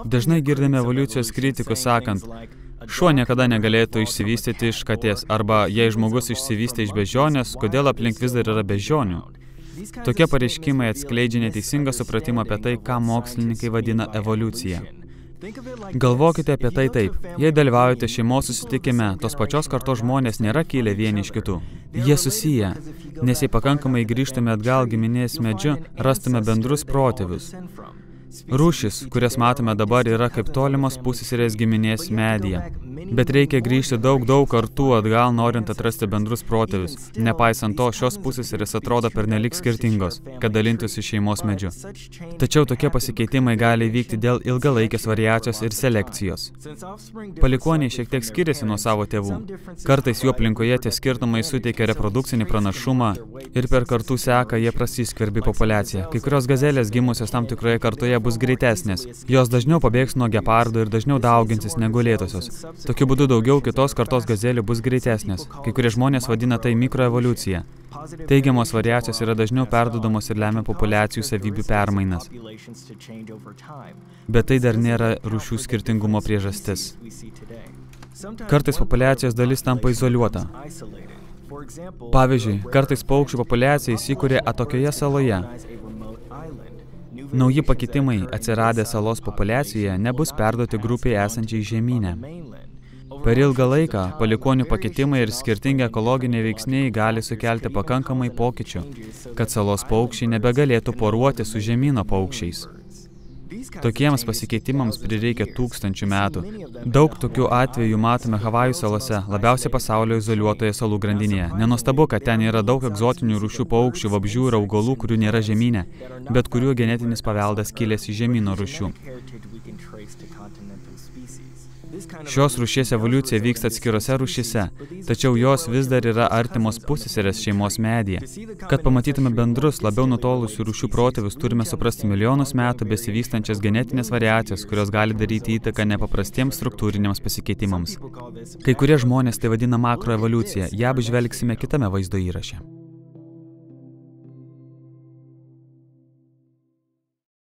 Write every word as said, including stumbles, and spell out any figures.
Dažnai girdime evoliucijos kritikus sakant, šuo niekada negalėtų išsivystyti iš katės, arba jei žmogus išsivystė iš beždžionės, kodėl aplink vis dar yra beždžionių. Tokie pareiškimai atskleidžia neteisingą supratimą apie tai, ką mokslininkai vadina evoliucija. Galvokite apie tai taip. Jei dalyvaujate šeimos susitikime, tos pačios kartos žmonės nėra kilę vieni iš kitų. Jie susiję, nes jei pakankamai grįžtume atgal giminės medžiu, rastume bendrus protėvius. Rūšis, kurias matome dabar, yra kaip tolimos pusseserės giminės medyje. Bet reikia grįžti daug, daug kartų atgal, norint atrasti bendrus protėvius. Nepaisant to, šios pusseserės atrodo pernelyg skirtingos, kad dalintųsi šeimos medžiu. Tačiau tokie pasikeitimai gali vykti dėl ilgalaikės variacijos ir selekcijos. Palikuoniai šiek tiek skiriasi nuo savo tėvų. Kartais jų aplinkoje tie skirtumai suteikia reprodukcinį pranašumą ir per kartų seką jie prasiskverbia populiaciją. Kai kurios gazelės gimusios tam tikroje kartoje bus greitesnės. Jos dažniau pabėgs nuo gepardų ir dažniau dauginsis negu lėtosios. Tokiu būdu daugiau kitos kartos gazelių bus greitesnės. Kai kurie žmonės vadina tai mikroevoliucija. Teigiamos variacijos yra dažniau perduodamos ir lemia populiacijų savybių permainas. Bet tai dar nėra rūšių skirtingumo priežastis. Kartais populiacijos dalis tampa izoliuota. Pavyzdžiui, kartais paukščių populiacija įsikūrė atokioje saloje. Nauji pakitimai atsiradę salos populiacijoje nebus perduoti grupiai esančiai žemyne. Per ilgą laiką palikuonių pakitimai ir skirtingi ekologiniai veiksniai gali sukelti pakankamai pokyčių, kad salos paukščiai nebegalėtų poruoti su žemyno paukščiais. Tokiems pasikeitimams prireikia tūkstančių metų. Daug tokių atvejų matome Havajų salose, labiausiai pasaulio izoliuotoje salų grandinėje. Nenuostabu, kad ten yra daug egzotinių rūšių paukščių, vabzdžių ir augalų, kurių nėra žemyne, bet kurių genetinis paveldas kilęs iš žemyno rūšių. Šios rūšies evoliucija vyksta atskirose rūšyse, tačiau jos vis dar yra artimos pusseserės šeimos medyje. Kad pamatytume bendrus, labiau nutolusių rūšių protėvius, turime suprasti milijonus metų besivystančias genetinės variacijas, kurios gali daryti įtaką nepaprastiems struktūriniams pasikeitimams. Kai kurie žmonės tai vadina makroevoliucija, ją apžvelgsime kitame vaizdo įraše.